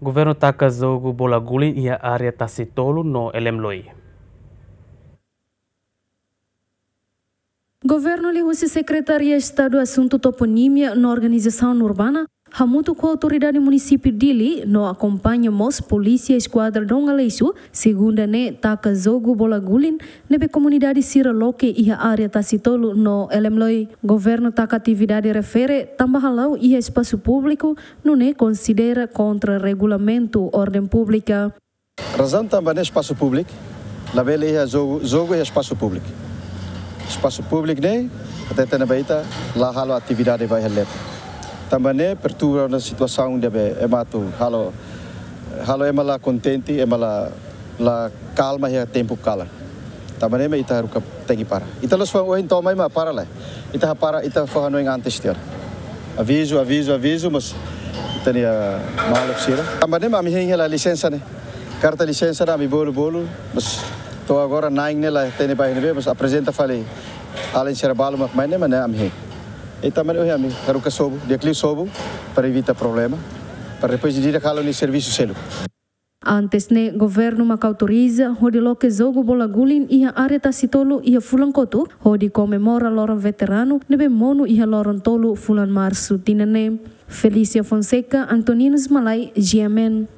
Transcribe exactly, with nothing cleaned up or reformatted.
Governu taka jogu bola guling iha área Tasitolu no Elemloi. Governu liuhusi Sekretaria Estadu Asuntu Toponímia no Organizasaun Urbana hamutuk ho Autoridade Munisípiu Dili no akompaña mós Polísia Eskuadra Dom Aleixo, segunda ne'e taka jogu bola guling ne'ebé komunidade sira loke iha área Tasitolu no Elemloi. Governu taka atividade refere tanba hala'o iha espasu públiku, nune'e konsidera kontra regulamentu orden públika. Razaun tanba ne'e espasu públiku, labele iha jogu, jogu iha espasu públiku. Espasu públiku ne'e, hateten ba ita, la halo atividade ba iha letra. Tanba ne'e perturba ona situasaun ne'ebé ema atu halo, halo ema la kontente, ema la, la kalma iha tempu kalan. Tanba ne'e mak ita haruka tenke para. Ita la'ós fó ohin to'o mai mak para lai. Ita hapara, ita fó hanoin antes tiha ona. Avizu, avizu, avizu, mas ita-nia maluk sira. Tanba ne'e mak ami hein hela lisensa ne'e. Karta lisensa ne'e ami bolu, bolu, mas to'o agora na'in ne'e la hatene ba ne'ebé, mas aprezenta fali alin sira balu mak mai ne'e, mak ne'e ami hein. Ita mak ne'e ohin ami haruka sobu, di'ak liu sobu, para evita problema, para depois di'ak halo nia servisu seluk. Antes ne'e, governu maka autoriza hodi loke jogu bola guling iha área Tasitolu iha fulan kotuk, hodi komemora loron veteranu ne'ebé monu iha loron tolu fulan Marsu tinan ne'e. Felícia Fonseca, Antoninus Malai, G M N.